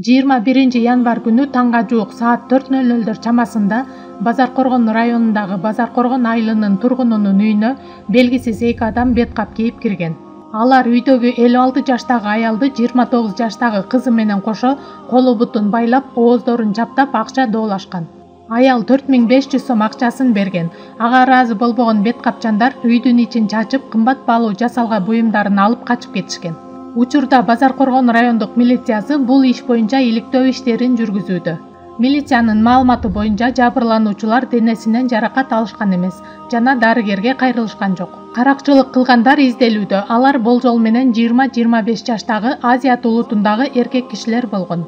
Январь күнү таңга жуук саат 4:00 чамасында Базаркоргон районундагы Базаркоргон айылынын тургунунун үйүнө белгисиз эки адам бет кап кийип кирген. Алар үйдөгү 56 жаштагы аялды 29 жаштагы кызы менен кошо колу бутун байлап, ооздорун чаптап акча доолашкан. Аял 4500 сом акчасын берген. Ага ыраазы болбогон бет капчандар үйдүн ичин чачып, кымбат баалуу жасалга буюмдарын алып качып кетишкен. Учурда Базаркоргон райондук милициясы бул иш боюнча иликтөө иштерин жүргүзүүдө. Милициянын маалыматы боюнча жабырлануучулар денесинен жаракат алышкан эмес жана дарыгерге кайрылышкан жок. Каракчылык кылгандар изделүүдө. Алар болжол менен 20-25 жаштагы Азият улутундагы эркек кишилер болгон.